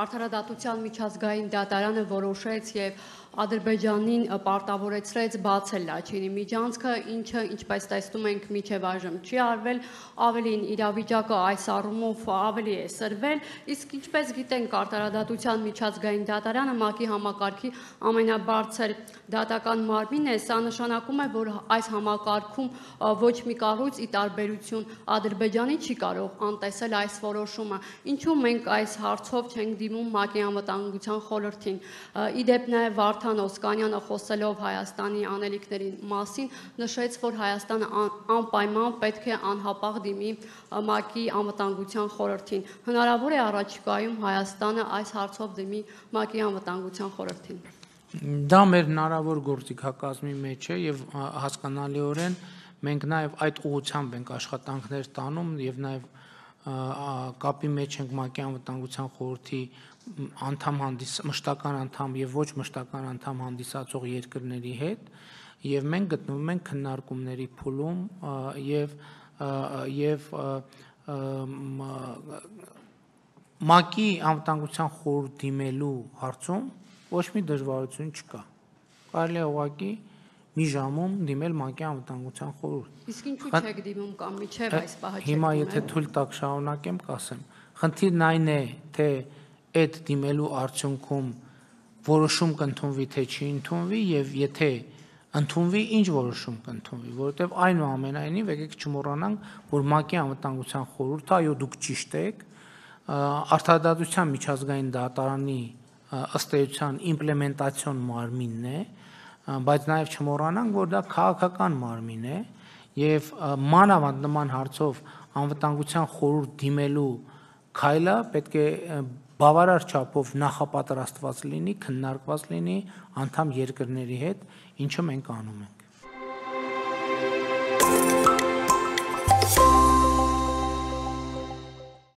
Արդարադատության միջազգային դատարանը որոշեց եւ Ադրբեջանին պարտավորեցրեց բացել Լաչինի միջանցքը, ինչը, ինչպես տեսնում ենք, մինչև այժմ չի արվել, ավելին իրավիճակը այս առումով ավելի է սրվել, իսկ ինչպես գիտենք, Արդարադատության միջազգային դատարանը ՄԱԿ-ի համակարգի ամենաբարձր դատական մարմինն է, սա նշանակում է, որ այս համակարգում ոչ մի կառույց ի տարբերություն Ադրբեջանի չի կարող անտեսել այս որոշումը, ինչու մենք այս հարցով չենք դիմում ՄԱԿ-ի անվտանգության խորհրդին։ Իդեպ նաև Վարդան Օսկանյանը խոսելով Հայաստանի անելիքների մասին նշեց, որ Հայաստանը անպայման պետք է անհապաղ դիմի ՄԱԿ-ի անվտանգության խորհրդին։ Հնարավոր է առաջիկայում Հայաստանը այս հարցով դիմի ՄԱԿ-ի անվտանգության խորհրդին։ Դա մեր հնարավոր գործիքակազմի մեջ է եւ հասկանալիորեն մենք նաեւ այդ ուղղությամբ ենք աշխատանքներ տանում եւ նաեւ կապի մեջ ենք ՄԱԿ-ի անվտանգության խորհրդի մշտական անդամ եւ ոչ մշտական անդամ հանդիսացող երկրների հետ եւ մենք գտնվում ենք քննարկումների փուլում եւ ՄԱԿ-ի անվտանգության խորհուրդ դիմելու հարցում ոչ մի դժվարություն չկա։ Կարելի է ուղղակի մի ժամում դիմել ՄԱԿ-ի անվտանգության խորհուրդ։ Իսկ ինչու չեք դիմում կամ միջև այս պահը չեք դիմել։ Հիմա եթե թույլ տաք շարունակեմ, կասեմ։ Խնդիրն այն է, թե այդ դիմելու արդյունքում որոշում կընդունվի, թե չի ընդունվի եւ եթե ընդունվի, ինչ որոշում կընդունվի, որովհետեւ այնուամենայնիվ եկեք չմոռանանք, որ ՄԱԿ-ի անվտանգության խորհուրդը, այո, դուք ճիշտ եք, Արդարադատության միջազգային դատարանի ըստ էության իմպլեմենտացիոն մարմինն է, բայց նաև չմոռանանք, որ դա քաղաքական մարմին է եւ մանավանդ նման հարցով անվտանգության խորհուրդ դիմելու քայլը պետք է բավարար չափով նախապատրաստված լինի, քննարկված լինի անդամ երկրների հետ, ինչը մենք անում ենք։